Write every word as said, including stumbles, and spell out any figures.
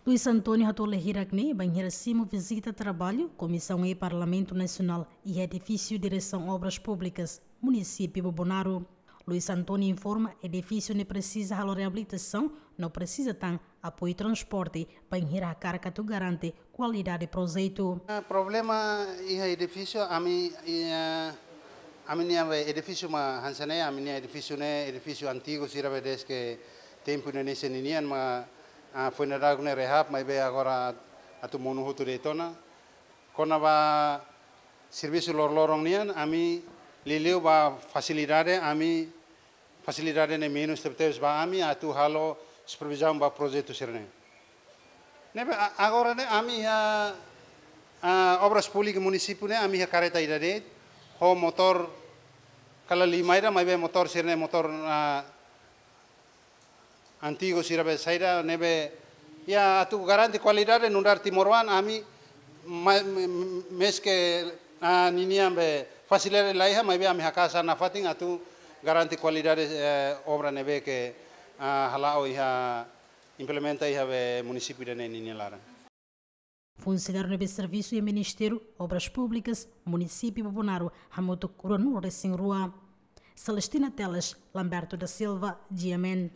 Luis António hato'o hirak ne'e bainhira simu vizita traballu Komisaun E Parlamentu Nasionál iha edifísiu Diresaun Obras Públikas, Munisípiu Bobonaro. Luis António informa edifísiu ne'e presiza halo reabilitasaun no presiza tan apoiu transporte bainhira hakarak atu garante kualidade projetu. Ah, problema iha edifísiu, ami, iha, ami-nia edifísiu mak hanesan ne'e, ami-nia edifísiu ne'e, edifísiu antigu sira be deske tempu Indonézia ninian mak, ah, foin dadauk ne'e rehab, maibé agora atu monu hotu de'it ona. Kona-ba servisu loroloron nian, ami liuliu ba fasilidade, ami fasilidade ne'e menus tebetebes ba ami atu halo supervizaun ba projetu sira-ne'e. Ne'ebé a-, agora ne'e ami iha, ah, Obras Públikas Munisípiu ne'e ami iha karreta ida de'it, ho motór kala lima ida, maibé motór sira-ne'e motór, ah, antigu sira be saida ne'ebé, iha atu garante kualidade nu'udar timoroan ami ma-, me-, me-, meski, ah, ninian be fasilidade la iha, maibé ami haka'as nafatin atu garante kualidade, eh, obra ne'ebé ke, ah, hala'o iha implementa iha be munisípiu ida-ne'e ninia laran. Funsionáriu ne'ebé servisu iha Ministériu Obras Públikas, Munisípiu Bobonaro, hamutuk ruanulu-resin-rua. Celestina Teles, Lamberto da Silva, G M N.